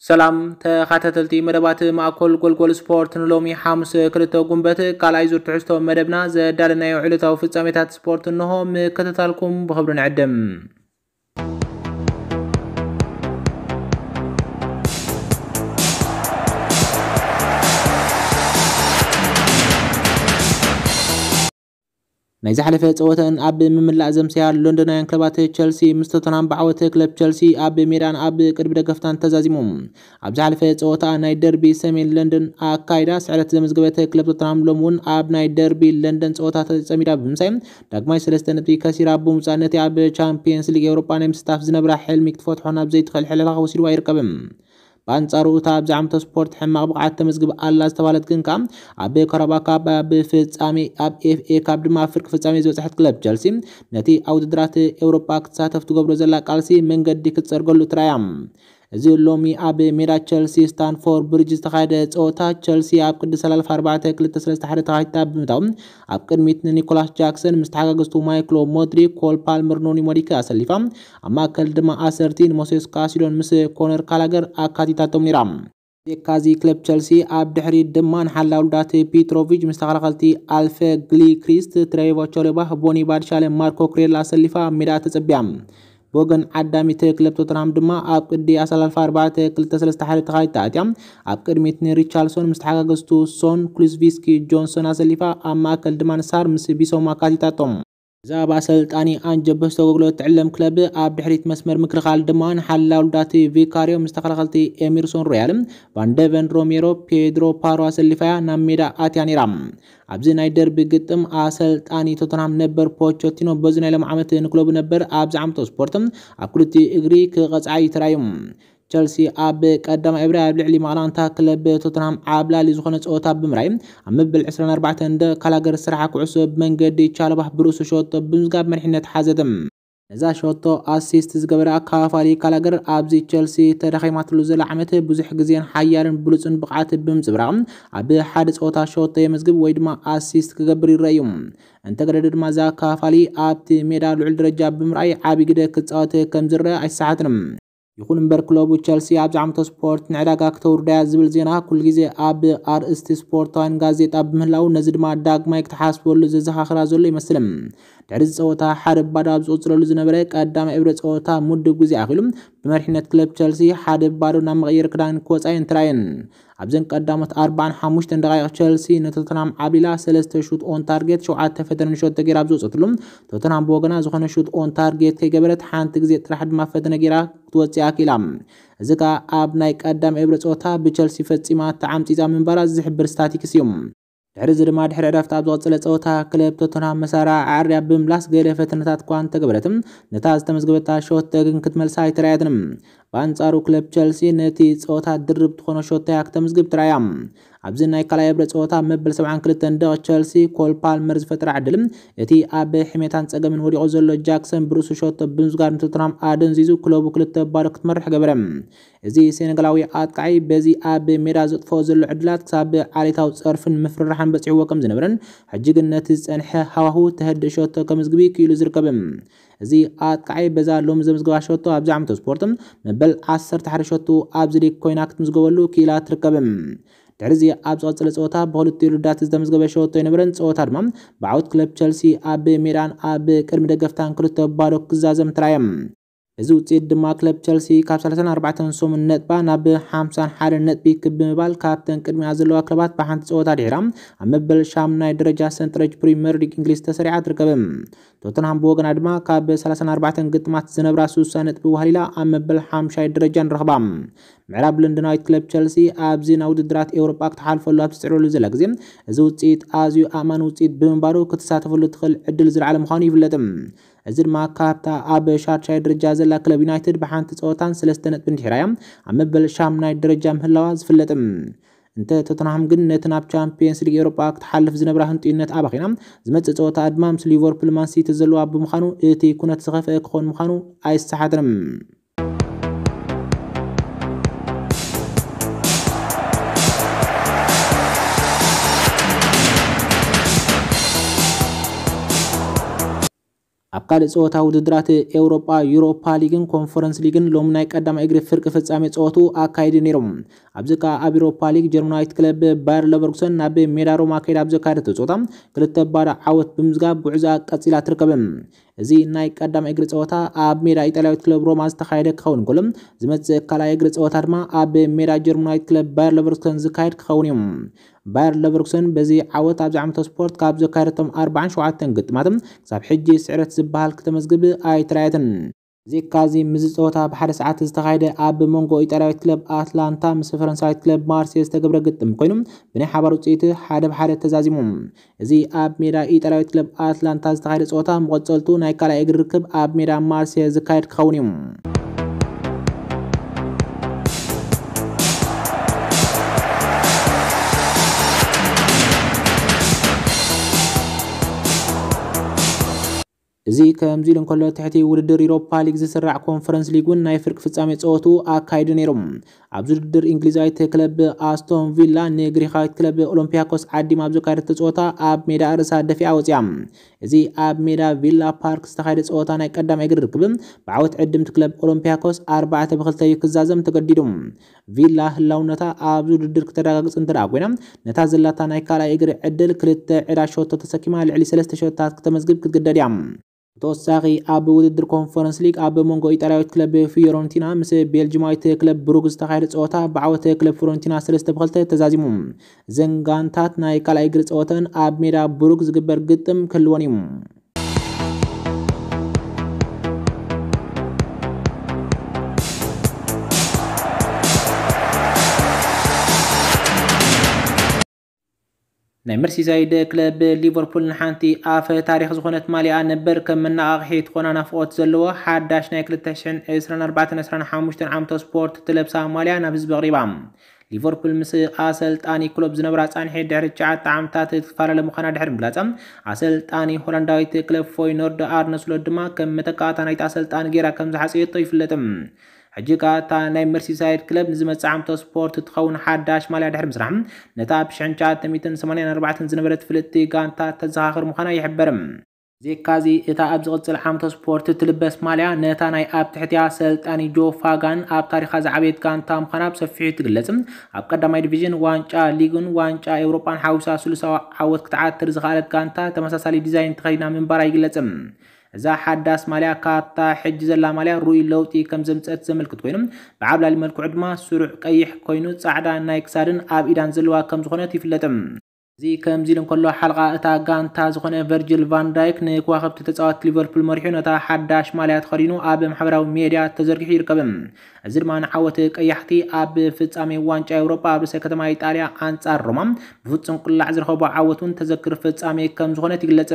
ሰላም ተኸታተልቲ መደባት ማእኮል ጎልጎል ስፖርት፣ ንሎሚ ሓሙስ ክልተ ጉንበት ካልኣይ ዙር ትሕዝቶ መደብና ዘዳለናዮ ዕለታዊ ፍጻሜታት ስፖርት እንሆ፣ ምክትታልኩም ብኽብሪ ንዕድም። ናይ ዝሓለፈ ጸወተን ኣብ ምምላእ ዘምሰያ ሎንዶናውያን ክለባት ቸልሲ ምስ ቶተንሃም ብዓወት ክለብ ቸልሲ ኣብ ሜዳን ኣብ ቅድሚ ደገፍታን ተዛዚሙ። ኣብ ዝሓለፈ ጸወታ ናይ ደርቢ ሰሜን ለንደን ኣካይዳ ስዕረት ዘመዝገበት ክለብ ቶተንሃም ሎም እውን ኣብ ናይ ደርቢ ለንደን ጸወታ ተጸሚዳ ብምሳይ ዳግማይ ሰለስተ ነጥቢ ከሲራ ብምውጻእ ነቲ ኣብ ቻምፒየንስ ሊግ ኤውሮጳ ናይ ምስታፍ ዝነብራ ሕልሚ ክትፈትሖ ናብ ዘይትኽእል ሕልላ ወሲድዋ ይርከብ። ብኣንጻሩ እታ ኣብዚ ዓመተ ስፖርት ሕማቕ ብቕዓት ተመዝግብ ኣላ ዝተባለት ግን ከኣ ኣብ ካራባካ ኣብ ፍጻሜ ኣብ ኤፍኤ ካፕ ድማ ኣብ ፍርቂ ፍጻሜ ዝበጽሐት ክለብ ቸልሲ ነቲ ኣብ ውድድራት ኤውሮጳ ክትሳተፍ ትገብሮ ዘላ ቃልሲ መንገዲ ክትጸርገሉ ትራያ። እዚ ሎሚ ኣብ ሜዳ ቸልሲ ስታንፎርድ ብሪጅ ዝተኻየደ ጸወታ ቸልሲ ኣብ ቅዲ ሰላልፍ ኣርባዕተ ክልተ ሰለስተ ሓደ ተኻይታ ብምታው ኣብ ቅድሚት ንኒኮላስ ጃክሰን ምስ ተሓጋገዝቱ ማይክሎ ሞድሪክ፣ ኮል ፓልመር፣ ኖኒ ሞዲክ ኣሰሊፋ ኣብ ማእከል ድማ ኣሰርቲን ሞሴስ ካሲዶን ምስ ኮነር ካላገር ኣካቲታቶም ነይራ። የካዚ ክለብ ቸልሲ ኣብ ድሕሪት ድማ ንሓላው ልዳት ፒትሮቪች ምስ ተኸላኸልቲ ኣልፈ ግሊክሪስት፣ ትሬቮ ቾሎባ፣ ቦኒ ባድሻለ፣ ማርኮ ኩሬላ ኣሰሊፋ ኣብ ሜዳ ተጸቢያ። ብወገን ዓዳሚት ክለብ ቶተንሃም ድማ ኣብ ቅዲ ኣሰላልፋ ኣርባዕተ ክልተ ሰለስተ ሓደ ተኻይታ ኣትያ ኣብ ቅድሚት ንሪቻልሶን ምስ ተሓጋገዝቱ ሶን፣ ኩሉዝቪስኪ፣ ጆንሶን ኣሰሊፋ ኣብ ማእከል ድማ ንሳር ምስ ቢሶማ ኣካቲታቶም። ብዛዕባ ኣሰልጣኒ ኣንጀ ፖስተኮግሎ እትዕለም ክለብ ኣብ ድሕሪት መስመር ምክልኻል ድማ ንሓላው ልዳት ቪካሪዮ ምስ ተኸላኸልቲ ኤሚርሶን ሮያል፣ ቫንደቨን፣ ሮሜሮ፣ ፔድሮ ፓሮ ኣሰሊፋያ ናብ ሜዳ ኣትያ ነይራ። ኣብዚ ናይ ደርቢ ግጥም ኣሰልጣኒ ቶተንሃም ነበር ፖቸቲኖ በዚ ናይ ሎም ዓመት ንክለቡ ነበር ኣብዚ ዓመቶ ስፖርት ኣብ ክልቲኡ እግሪ ክቐጽዓ እዩ ተራእዩ። ቸልሲ ኣብ ቀዳማይ እብረ ኣብ ልዕሊ ማቕላንታ ክለብ ቶተንሃም ዓብላሊ ዝኾነ ጸወታ ብምራይ ኣብ መበል ዕስራን ኣርባዕተን ደቂቕ ካላገር ስራሓ ኩዕሶ ብመንገዲ ቻሎባ ብርእሱ ሸወቶ ብምዝጋብ መሪሕነት ሓዘት። ነዛ ሸወቶ ኣሲስት ዝገበረ ኣካፋሊ ካላገር ኣብዚ ቸልሲ ተዳኺማትሉ ዘላ ዓመት ብዙሕ ግዜን ሓያልን ብሉጽን ብቕዓት ብምጽብራቕ ኣብ ሓደ ጸወታ ሸወቶ የመዝግብ ወይ ድማ ኣሲስት ክገብር ይረኣዩ። እንተገደደ ድማ እዛ ኣካፋሊ ኣብቲ ሜዳ ልዑል ደረጃ ብምርኣይ ዓቢ ግደ ክጻወት ከም ዝረአ ኣይሰሓትን። ይኹን እምበር ክለቡ ቸልሲ ኣብዚ ዓመተ ስፖርት ንዕዳጋ ክተውርዳያ ዝብል ዜና ኩሉ ግዜ ኣብ ኣርእስቲ ስፖርታውያን ጋዜጣ ብምህላው ነዚ ድማ ዳግማይ ክትሓስበሉ ዘዘኻኽራ ዘሎ ይመስል። ድሕሪ እዚ ጸወታ ሓደ ባዶ ኣብ ዝቕጽለሉ ዝነበረ ቀዳማይ እብረ ጸወታ ምድብ ግዜ ኣኺሉ ብመሪሕነት ክለብ ቸልሲ ሓደ ባዶ ናብ መቐየሪ ክዳን ክወጻ እየን ተራየን። ኣብዘን ቀዳሞት ኣርባዓን ሓሙሽተን ደቓይቕ ቸልሲ ንቶተንሃም ዓብሊላ ሰለስተ ሹት ኦን ታርጌት ሸውዓተ ፈተነ ንሸቶ ገይራ ኣብ ዝወጸትሉ ቶተንሃም ብወገና ዝኾነ ሹት ኦን ታርጌት ከይገበረት ሓንቲ ግዜ ጥራሕ ድማ ፈተነ ገይራ ክትወጽእ ኣኪላ። እዚ ከኣ ኣብ ናይ ቀዳም እብረ ጸወታ ብቸልሲ ፈጺማ ተዓምጺጻ ምንባራ ዝሕብር ስታቲክስ እዩ። ድሕሪ እዚ ድማ ድሕሪ ዕረፍቲ ኣብ ዝቐጸለ ጸወታ ክለብ ቶተንሃም መሳርዓ ኣዕርያ ብምምላስ ገለ ፈተነታት እኳ እንተገበረትም ነታ ዝተመዝገበታ ሾት ግን ክትመልሳ ኣይተራየትንም። ብኣንጻሩ ክለብ ቸልሲ ነቲ ጸወታ ድርብ ዝኾነ ሾት እያ ክተምዝግብ ትራያ። ኣብዚ ናይ ካልኣይ እብረ ጸወታ መበል ሰብዓን ክልተን ደቕ ቸልሲ ኮል ፓልመር ዝፈጠራ ዕድል እቲ ኣብ ሕሜታን ጸገምን ወዲቑ ዘሎ ጃክሰን ብርእሱ ሸቶ ብምዝጋር ንቶተንሃም ኣደንዚዙ ክለቡ ክልተ ባዶ ክትመርሕ ገበረ። እዚ ሴነጋላዊ ኣጥቃዒ በዚ ኣብ ሜዳ ዘጥፍኦ ዘሎ ዕድላት ክሳብ ዓሌታዊ ጸርፍን ምፍርራሕን በጺሕዎ ከም ዝነበረን ሕጂ ግን ነቲ ዝጸንሐ ሃዋሁ ተህድእ ሸቶ ከምዝግቢ ክኢሉ ዝርከብ። እዚ ኣጥቃዒ በዛ ሎሚ ዘምዝገባ ሸቶ ኣብዚ ዓመተ ስፖርት መበል ዓሰርተ ሓደ ሸቶ ኣብዚ ሊግ ኮይና ክትምዝገበሉ ክኢላ ትርከብ። ድሕሪ እዚ ኣብ ዝቐጸለ ጸወታ ብኽልቲኡ ልዳት ዝተመዝገበ ሸቶ ኣይነበረን። ጸወታ ድማ ብዓወት ክለብ ቸልሲ ኣብ ሜዳን ኣብ ቅድሚ ደገፍታን ክልተ ባዶ ክዛዘም ትራየ። እዚ ውጽኢት ድማ ክለብ ቸልሲ ካብ ሰላሳን ኣርባዕተን ሰሙን ነጥባ ናብ ሓምሳን ሓደን ነጥቢ ክብ ብምባል ካብተን ቅድሚኣ ዘለዋ ክለባት ብሓንቲ ጸወታ ድሒራ ኣብ መበል ሻምናይ ደረጃ ሰንጠረጅ ፕሪምየር ሊግ እንግሊዝ ተሰሪዓ ትርከብ። ቶተንሃም ብወገና ድማ ካብ ሰላሳን ኣርባዕተን ግጥማት ዝነብራ ስሳ ነጥቢ ዋህሊላ ኣብ መበል ሓምሻይ ደረጃ ንረኽባ። ምዕራብ ለንደናዊት ክለብ ቸልሲ ኣብዚ ናብ ውድድራት ኤውሮጳ ክትሓልፈሉ ኣብ ትጽዕረሉ ዘላ ግዜ እዚ ውጽኢት ኣዝዩ ኣማኒ ውጽኢት ብምንባሩ ክትሳተፈሉ ትኽእል ዕድል ዝለዓለ ምዃኑ ይፍለጥ። እዚ ድማ ካብታ ኣብ ሻርሻይ ደረጃ ዘላ ክለብ ዩናይትድ ብሓንቲ ጸወታን ሰለስተ ነጥብን ድሒራያ ኣብ መበል ሻምናይ ደረጃ ምህላዋ ዝፍለጥ። እንተ ቶተንሃም ግን ነቲ ናብ ቻምፒየንስ ሊግ ኤውሮጳ ክትሓልፍ ዝነብራ ህንጡይነት ኣባኺና ዝመጽእ ጸወታ ድማ ምስ ሊቨርፑል ማን ሲቲ ዘለዋ ብምዃኑ እቲ ኩነት ዝኸፍአ ክኾን ምዃኑ ኣይሰሓትን። ኣብ ካልእ ጸወታ ውድድራት ኤውሮጳ፣ ዩሮፓ ሊግን ኮንፈረንስ ሊግን ሎም ናይ ቀዳማይ እግሪ ፍርቂ ፍጻሜ ጸወቱ ኣካይዱ ነይሮም። ኣብዚ ከኣ ኣብ ዩሮፓ ሊግ ጀርመናዊት ክለብ ባየር ለቨርኩሰን ናብ ሜዳ ሮማ ከይዳ ኣብ ዘካየደቶ ጸወታ ክልተ ባዶ ዓወት ብምዝጋብ ጉዕዛ ቀጺላ ትርከብ። እዚ ናይ ቀዳማይ እግሪ ጸወታ ኣብ ሜዳ ኢጣልያዊት ክለብ ሮማ ዝተኻየደ ክኸውን እንከሎ፣ ዝመጽእ ካልኣይ እግሪ ጸወታ ድማ ኣብ ሜዳ ጀርመናዊት ክለብ ባየር ለቨርኩሰን ዝካየድ ክኸውን እዩ። ባየር ለቨርኩሰን በዚ ዓወት ኣብዚ ዓመተ ስፖርት ካብ ዘካየደቶም ኣርባዓን ሸውዓተን ግጥማት ክሳብ ሕጂ ስዕረት ዝበሃል ክተመዝግብ ኣይተራየትን። ዜካዚ ምስዚ ጸወታ ብሓደ ሰዓት ዝተኻየደ ኣብ መንጎ ኢጣልያዊት ክለብ ኣትላንታ ምስ ፈረንሳዊት ክለብ ማርሴ ዝተገብረ ግጥም ኮይኑ፣ ብናይ ሓባር ውጽኢት ሓደ ብሓደ ተዛዚሙ። እዚ ኣብ ሜዳ ኢጣልያዊት ክለብ ኣትላንታ ዝተኻየደ ጸወታ መቐጸልቱ ናይ ካልኣይ እግሪ ርክብ ኣብ ሜዳ ማርሴ ዝካየድ ክኸውን እዩ። እዚ ከምዚ ኢሉ እንከሎ፣ ትሕቲ ውድድር ዩሮፓ ሊግ ዝስራዕ ኮንፈረንስ ሊግ እውን ናይ ፍርቂ ፍጻሜ ጸወቱ ኣካይዱ ነይሩ። ኣብዚ ውድድር እንግሊዛዊት ክለብ ኣስቶን ቪላ ንግሪኻዊት ክለብ ኦሎምፒያኮስ ዓዲማ ኣብ ዘካየደቶ ጸወታ ኣብ ሜዳ ርእሳ ደፊኣ ወጺኣ። እዚ ኣብ ሜዳ ቪላ ፓርክ ዝተኻየደ ጸወታ ናይ ቀዳማይ እግሪ ርክብ ብዓወት ዕድምቲ ክለብ ኦሎምፒያኮስ ኣርባዕተ ብክልተ እዩ ክዛዘም ተገዲዱ። ቪላ ህላውነታ ኣብዚ ውድድር ክተረጋግጽ እንተ ደኣ ኮይና፣ ነታ ዘላታ ናይ ካልኣይ እግሪ ዕድል ክልተ ዕዳ ሸቶ ተሰኪማ ልዕሊ ሰለስተ ሸቶታት ክተመዝግብ ክትግደድ እያ። ብተወሳኺ ኣብ ውድድር ኮንፈረንስ ሊግ ኣብ መንጎ ኢጣልያዊት ክለብ ፊዮረንቲና ምስ ቤልጅማዊት ክለብ ብሩግ ዝተኻየደ ጸወታ ብዓወት ክለብ ፊዮረንቲና ሰለስተ ብክልተ ተዛዚሙ። እዘን ጋንታት ናይ ካልኣይ እግሪ ጸወተን ኣብ ሜዳ ብሩግ ዝግበር ግጥም ክህልወን እዩ። ናይ መርሲሳይድ ክለብ ሊቨርፑል ንሓንቲ ኣፈ ታሪኽ ዝኾነት ማልያ ነበር ከም መነቓቕሒ ትኾና ናፍቖት ዘለዎ ሓዳሽ ናይ ክልተ ሽሕን ዕስራን ኣርባዕተን ዕስራን ሓሙሽተን ዓመተ ስፖርት ትለብሳ ማልያ ናብ ህዝቢ ኣቕሪባ። ሊቨርፑል ምስ ኣሰልጣኒ ክሎፕ ዝነበራ ጻንሒት ድሕሪ ትሽዓተ ዓመታት ትፈላለ ምዃና ድሕሪ ምግላጻ፣ ኣሰልጣኒ ሆላንዳዊት ክለብ ፎይኖርድ ኣርነ ስሎት ድማ ከም መተካእታ ናይቲ ኣሰልጣኒ ገይራ ከም ዝሓጸየቶ ይፍለጥ። ሕጂ ከኣ እታ ናይ መርሲሳይድ ክለብ ንዝመጽእ ዓመተ ስፖርት ትኸውን ሓዳሽ ማልያ ድሕሪ ምስራሕ፣ ነታ ብ ሽሕን ትሽዓተ ሚእትን ሰማንያን ኣርባዕተን ዝነበረት ፍልጥቲ ጋንታ ተዘኻኽር ምዃና ይሕበር። ዜካዚ እታ ኣብ ዝቕጽል ዓመተ ስፖርት ትልበስ ማልያ፣ ነታ ናይ ኣብ ትሕቲኣ ሰልጣኒ ጆ ፋጋን ኣብ ታሪኻ ዝዓበየት ጋንታ ምዃና ብሰፊሑ ትግለጽ። ኣብ ቀዳማይ ዲቪዥን ዋንጫ ሊግን ዋንጫ ኤውሮጳን ሓዊሳ ስሉሳዊ ዓወት ክትዓትር ዝኸኣለት ጋንታ ተመሳሳሊ ዲዛይን ተኸዲና ምንባራ ይግለጽ። እዛ ሓዳስ ማልያ ካብታ ሕጂ ዘላ ማልያ ርኡይ ለውጢ ከም ዘምጸት ዘመልክት ኮይኑ፣ ብዓብላሊ መልክዑ ድማ ስሩዕ ቀይሕ ኮይኑ ጻዕዳ ናይ ክሳድን ኣብ ኢዳን ዘለዋ ከም ዝኾነት ይፍለጥ። እዚ ከምዚ ኢሉ እንከሎ፣ ሓለቓ እታ ጋንታ ዝኾነ ቨርጅል ቫን ዳይክ ንከዋኽብቲ ተጻወትቲ ሊቨርፑል መሪሑ ነታ ሓዳሽ ማልያ ተኸዲኑ ኣብ ማሕበራዊ ሜድያ ተዘርጊሑ ይርከብ። እዚ ድማ ንዓወት ቀያሕቲ ኣብ ፍጻሜ ዋንጫ ኤውሮጳ ኣብ ርእሰ ከተማ ኢጣልያ ኣንጻር ሮማ ብፍጹም ቅላዕ ዝረኸቦ ዓወት እውን ተዘክር ፍጻሜ ከም ዝኾነት ይግለጽ።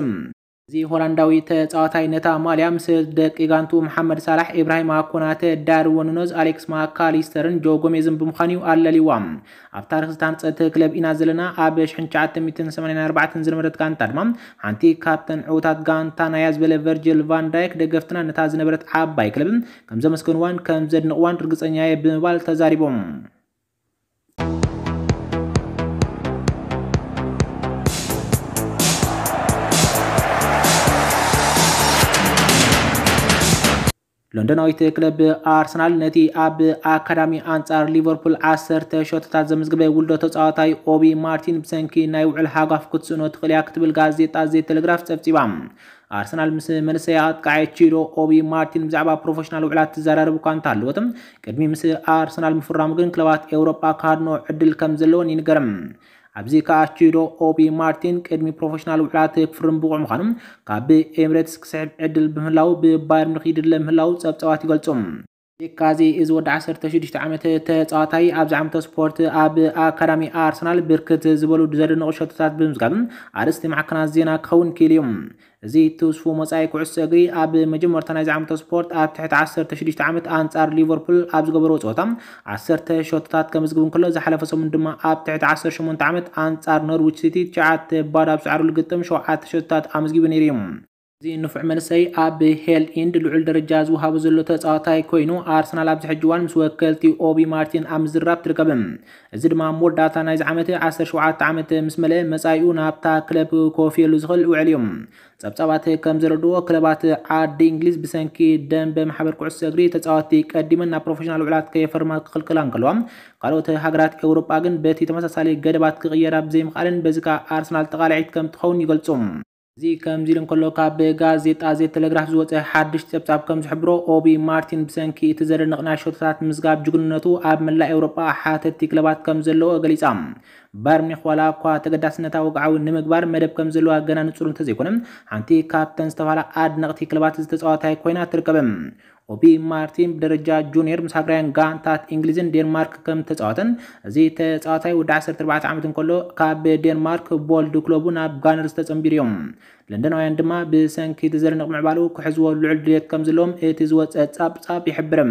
እዚ ሆላንዳዊ ተጻዋታይ ነታ ማልያ ምስ ደቂ ጋንቱ መሓመድ ሳላሕ፣ ኢብራሂማ ኮናተ፣ ዳርዊን ኑነዝ፣ ኣሌክስ ማካሊስተርን ጆ ጎሜዝን ብምዃን እዩ ኣለልይዋ። ኣብ ታሪኽ ዝተሃንጸት ክለብ ኢና ዘለና። ኣብ ሽሕን ትሽዓተ ሚእትን ሰማንያን ኣርባዕተን ዝነበረት ጋንታ ድማ ሓንቲ ካብተን ዕዉታት ጋንታ ናያ ዝበለ ቨርጅል ቫን ዳይክ፣ ደገፍትና ነታ ዝነበረት ዓባይ ክለብ ከም ዘመስገንዋን ከም ዘድንቕዋን ርግጸኛ እየ ብምባል ተዛሪቦም። ሎንዶናዊት ክለብ ኣርሰናል ነቲ ኣብ ኣካዳሚ ኣንጻር ሊቨርፑል ዓሰርተ ሸቶታት ዘመዝገበ ውልዶ ተጻዋታይ ኦቢ ማርቲን ብሰንኪ ናይ ውዕል ሃጓፍ ክትስእኖ ትኽእል እያ ክትብል ጋዜጣ ዘ ቴሌግራፍ ጸብጺባ። ኣርሰናል ምስ መንእሰይ ኣጥቃዓይ ቺዶ ኦቢ ማርቲን ብዛዕባ ፕሮፌሽናል ውዕላት ትዘራረብ እኳ እንተሃለወት፣ ቅድሚ ምስ ኣርሰናል ምፍራሙ ግን ክለባት ኤውሮጳ ክሃድኖ ዕድል ከም ዘለወን ይንገር። ኣብዚ ከኣ ቺዶ ኦቢ ማርቲን ቅድሚ ፕሮፌሽናል ውዕላት ክፍርም ብቑዕ ምዃኑ ካብ ኤምሬትስ ክስሕብ ዕድል ብምህላው ብባየር ሚኒክ ይድለ ምህላው ጸብጻባት ይገልጹ። ዜካዚ እዚ ወዲ ዓሰርተ ሽዱሽተ ዓመት ተጻዋታይ ኣብዚ ዓመተ ስፖርት ኣብ ኣካዳሚ ኣርሰናል ብርክት ዝበሉ ዘደንቑ ሸቶታት ብምዝጋብ ኣርእስቲ ማዕከናት ዜና ክኸውን ክኢሉ እዩ። እዚ ትውስፉ መጻኢ ኩዕሶ እግሪ ኣብ መጀመርታ ናይዚ ዓመተ ስፖርት ኣብ ትሕቲ ዓሰርተ ሽዱሽተ ዓመት ኣንጻር ሊቨርፑል ኣብ ዝገበርዎ ጸወታ ዓሰርተ ሸቶታት ከምዝግብ እንከሎ፣ ዝሓለፈ ሰሙን ድማ ኣብ ትሕቲ ዓሰርተ ሸሞንተ ዓመት ኣንጻር ኖርዊች ሲቲ ትሽዓተ ባዶ ኣብ ዝዓረሉ ግጥም ሸውዓተ ሸቶታት ኣመዝጊቡ ነይሩ እዩ። እዚ ንፉዕ መንእሰይ ኣብ ሄል ኢንድ ልዑል ደረጃ ዝወሃቦ ዘሎ ተጻዋታይ ኮይኑ፣ ኣርሰናል ኣብዚ ሕጂ እዋን ምስ ወከልቲ ኦቢ ማርቲን ኣብ ምዝራብ ትርከብ። እዚ ድማ ኣብ መወዳእታ ናይዚ ዓመት ዓሰርተ ሸውዓተ ዓመት ምስ መለአ መጻኢኡ ናብታ ክለብ ክወፍየሉ ዝኽእል ውዕል እዩ። ጸብጻባት ከም ዘረድኦ፣ ክለባት ዓዲ እንግሊዝ ብሰንኪ ደንበ ማሕበር ኩዕሶ እግሪ ተጻወትቲ ቀዲመን ናብ ፕሮፌሽናል ውዕላት ከየፈርማ ክኽልክላ እንከለዋ፣ ካልኦት ሃገራት ኤውሮጳ ግን በቲ ተመሳሳሊ ገደባት ክቕየራ ብዘይምኽኣለን፣ በዚ ከኣ ኣርሰናል ተቓላዒት ከም ትኸውን ይገልጹ። እዚ ከምዚ ኢሉ እንከሎ፣ ካብ ጋዜጣ ዘ ቴሌግራፍ ዝወጸ ሓድሽ ጸብጻብ ከም ዝሕብሮ፣ ኦቢ ማርቲን ብሰንኪ እቲ ዘደንቕ ናይ ሸቶታት ምዝጋብ ጅግንነቱ ኣብ መላእ ኤውሮጳ ሓተቲ ክለባት ከም ዘለዎ ገሊጻ። ባየር ሚኒክ ዋላ እኳ ተገዳስነታ ወግዓዊ ንምግባር መደብ ከም ዘለዋ ገና ንጹር እንተዘይኮነ፣ ሓንቲ ካብተን ዝተባህላ ኣድነቕቲ ክለባት እዚ ተጻዋታይ ኮይና ትርከብ። ኦቢ ማርቲን ብደረጃ ጁኒየር ምስ ሃገራውያን ጋንታት እንግሊዝን ዴንማርክ ከም ተጻወተን፣ እዚ ተጻዋታይ ወዲ ዓሰርተ ኣርባዕተ ዓመት እንከሎ ካብ ዴንማርክ ቦልድ ክለቡ ናብ ጋነርስ ተጸንቢሩ እዮም። ለንደናውያን ድማ ብሰንኪ እቲ ዘደንቕ ምዕባሉ ክሕዝዎ ልዑል ድሌት ከም ዘለዎም እቲ ዝወጸ ጻብጻብ ይሕብር።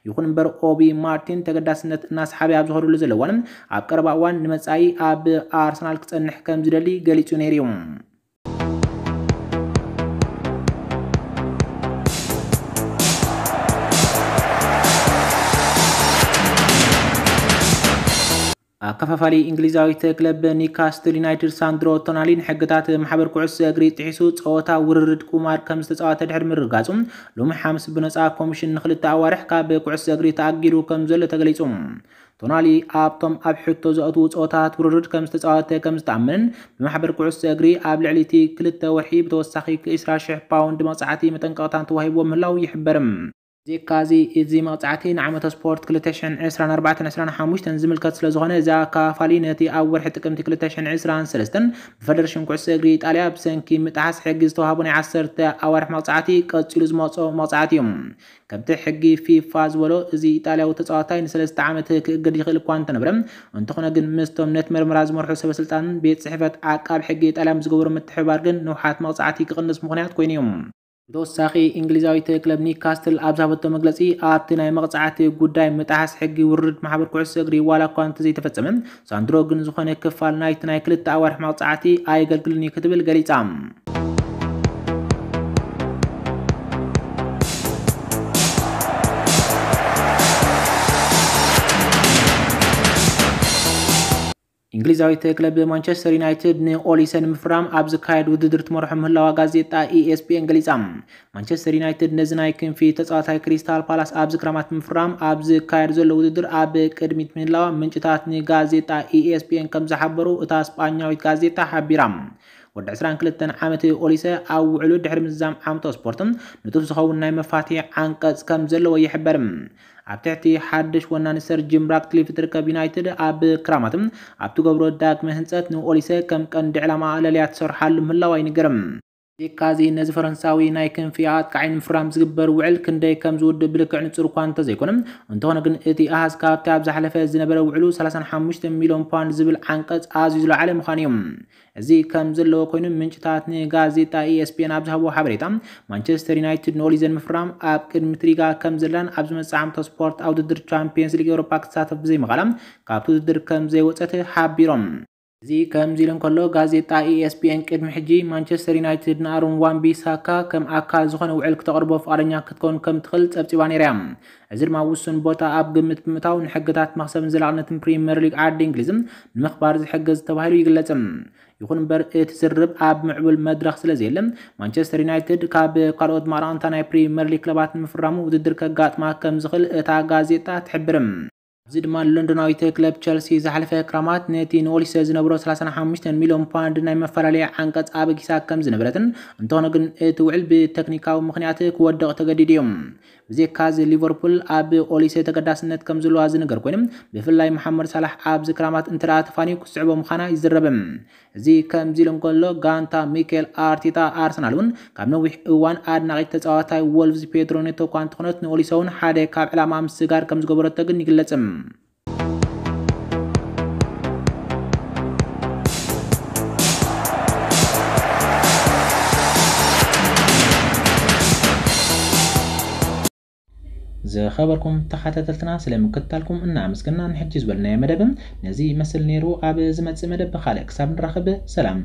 ይኹን እምበር ኦቢ ማርቲን ተገዳስነት እናሰሓበ ኣብ ዝኸደሉ ዘሎ እዋን፣ ኣብ ቀረባ እዋን ንመጻኢ ኣብ ኣርሰናል ክጸንሕ ከም ዝደሊ ገሊጹ ነይሩ እዩ። ኣከፋፋሊ እንግሊዛዊት ክለብ ኒካስትል ዩናይትድ ሳንድሮ ቶናሊ ንሕግታት ማሕበር ኩዕሶ እግሪ ጥሒሱ ጸወታ ውርርድ ቁማር ከም ዝተጻወተ ድሕሪ ምርግጋጹ፣ ሎሚ ሓሙስ ብነጻ ኮሚሽን ንኽልተ ኣዋርሕ ካብ ኩዕሶ እግሪ ተኣጊዱ ከም ዘሎ ተገሊጹ። ቶናሊ ኣብቶም ኣብ ሕቶ ዘእትዉ ጸወታት ውርርድ ከም ዝተጻወተ ከም ዝተኣመንን፣ ብማሕበር ኩዕሶ እግሪ ኣብ ልዕሊ እቲ ክልተ ወርሒ ብተወሳኺ ዕስራ ሽሕ ፓውንድ መቕጻዕቲ መጠንቀቕታን ተዋሂብዎ ምህላው ይሕበር። ብዘይካዚ፣ እዚ መቕጻዕቲ ንዓመተ ስፖርት ክልተ ሽሕን ዕስራን ኣርባዕተን ዕስራን ሓሙሽተን ዝምልከት ስለ ዝኾነ፣ እዚ ኣከፋፋሊ ነቲ ኣብ ወርሒ ጥቅምቲ ክልተ ሽሕን ዕስራን ሰለስተን ብፈደረሽን ኩዕሶ እግሪ ኢጣልያ ብሰንኪ ምጥሓስ ሕጊ ዝተዋህቦ ናይ ዓሰርተ ኣዋርሕ መቕጻዕቲ ቀጺሉ ዝመጾ መቕጻዕቲ እዩ። ከምቲ ሕጊ ፊፋ ዝበሎ፣ እዚ ኢጣልያዊ ተጻዋታይ ንሰለስተ ዓመት ክእገድ ይኽእል እኳ እንተነበረ፣ እንተኾነ ግን ምስቶም ነቲ መርመራ ዝመርሑ ሰበ ስልጣንን ቤት ጽሕፈት ዓቃብ ሕጊ ኢጣልያ ምስ ዝገበሮ ምትሕብባር ግን ንውሓት መቕጻዕቲ ክቕንስ ምኽንያት ኮይኑ እዩ። ብተወሳኺ፣ እንግሊዛዊት ክለብ ኒካስትል ኣብ ዝሃበቶ መግለጺ፣ ኣብቲ ናይ መቕጻዕቲ ጉዳይ ምጥሓስ ሕጊ ውርርድ ማሕበር ኩዕሶ እግሪ ዋላ እኳ እንተዘይተፈጸመ፣ ሳንድሮ ግን ዝኾነ ክፋል ናይቲ ናይ ክልተ ኣዋርሕ መቕጻዕቲ ኣየገልግልን እዩ ክትብል ገሊጻ። እንግሊዛዊት ክለብ ማንቸስተር ዩናይትድ ንኦሊሰ ንምፍራም ኣብ ዝካየድ ውድድር ትመርሖ ምህላዋ ጋዜጣ ኢኤስፒኤን ገሊጻ። ማንቸስተር ዩናይትድ ነዚ ናይ ክንፊ ተጻዋታይ ክሪስታል ፓላስ ኣብዚ ክራማት ንምፍራም ኣብ ዝካየድ ዘሎ ውድድር ኣብ ቅድሚት ምህላዋ ምንጭታት ንጋዜጣ ኢኤስፒኤን ከም ዝሓበሩ እታ ስጳኛዊት ጋዜጣ ሓቢራ። ወዲ ዕስራን ክልተን ዓመት ኦሊሰ ኣብ ውዕሉ ድሕሪ ምዝዛም ዓመተ ስፖርት ንጡፍ ዝኸውን ናይ መፋትሒ ዓንቀጽ ከም ዘለዎ ይሕበር። ኣብ ትሕቲ ሓድሽ ወናኒ ሰር ጂም ራትክሊፍ እትርከብ ዩናይትድ ኣብ ክራማት ኣብ ትገብሮ ዳግመ ህንጸት ንኦሊሰ ከም ቀንዲ ዕላማ ኣለልያ ትሰርሓሉ ምህላዋ ይንገር። ብዘይካዚ ነዚ ፈረንሳዊ ናይ ክንፊ ኣጥቃዒ ንምፍራም ዝግበር ውዕል ክንደይ ከም ዝውድእ ብልክዕ ንጹር እኳ እንተዘይኮነ፣ እንተኾነ ግን እቲ ኣሃዝ ካብቲ ኣብ ዝሓለፈ ዝነበረ ውዕሉ ሰላሳን ሓሙሽተ ሚልዮን ፓውንድ ዝብል ዓንቀጽ ኣዝዩ ዝለዓለ ምዃኑ እዩ። እዚ ከም ዘለዎ ኮይኑ፣ ምንጭታት ንጋዜጣ ኢኤስፒኤን ኣብ ዝሃብዎ ሓበሬታ፣ ማንቸስተር ዩናይትድ ንኦሊሰ ንምፍራም ኣብ ቅድሚት ሪጋ ከም ዘላን ኣብ ዝመጽእ ዓመተ ስፖርት ኣብ ውድድር ቻምፒየንስ ሊግ ኤውሮፓ ክትሳተፍ ብዘይምኽኣላ ካብቲ ውድድር ከም ዘይወጸት ሓቢሮም። እዚ ከምዚ ኢሉ እንከሎ፣ ጋዜጣ ኢኤስፒኤን ቅድሚ ሕጂ ማንቸስተር ዩናይትድ ንኣሮን ዋን ቢሳካ ከም ኣካል ዝኾነ ውዕል ክተቕርቦ ፍቓደኛ ክትከውን ከም ትኽእል ጸብጺባ ነይራ እያ። እዚ ድማ ውሱን ቦታ ኣብ ግምት ብምእታው ንሕግታት መኽሰብን ዘላቕነትን ፕሪምየር ሊግ ዓዲ እንግሊዝ ንምኽባር ዝሕግዝ ተባሂሉ ይግለጽ። ይኹን እምበር፣ እቲ ዝርርብ ኣብ ምዕቡል መድረኽ ስለ ዘየለ፣ ማንቸስተር ዩናይትድ ካብ ካልኦት ማራቕንታ ናይ ፕሪምየር ሊግ ክለባት ንምፍራሙ ውድድር ከጋጥማ ከም ዝኽእል እታ ጋዜጣ ትሕብር። ኣብዚ ድማ፣ ሎንዶናዊት ክለብ ቸልሲ ዝሓለፈ ክራማት ነቲ ንኦሊሰ ዝነበሮ ሰላሳን ሓሙሽተን ሚልዮን ፓውንድ ናይ መፈላለያ ዓንቀጽ ኣበጊሳ ከም ዝነበረትን፣ እንተኾነ ግን እቲ ውዕል ብቴክኒካዊ ምኽንያት ክወድቕ ተገዲዱ እዩ። ብዘይካዚ፣ ሊቨርፑል ኣብ ኦሊሰ ተገዳስነት ከም ዘለዋ ዝንገር ኮይኑ፣ ብፍላይ መሓመድ ሳላሕ ኣብዚ ክራማት እንተ ደኣ ተፋንዩ ክስዕቦ ምዃና ይዝረብ። እዚ ከምዚ ኢሉ እንከሎ፣ ጋንታ ሚኬል ኣርቴታ ኣርሰናል እውን ካብ ነዊሕ እዋን ኣድናቒት ተጻዋታይ ወልቭስ ፔድሮ ኔቶ እኳ እንተኾነት፣ ንኦሊሰ እውን ሓደ ካብ ዕላማ ምስጋር ከም ዝገበረቶ ግን ይግለጽ። ዝኸበርኩም ተኸታተልትና፣ ስለ ምክትታልኩም እናኣመስገና፣ ንሕጂ ዝበልናዮ መደብ ነዚ ይመስል ነይሩ። ኣብ ዝመጽእ መደብ ብኻልእ ክሳብ ንራኸብ፣ ሰላም።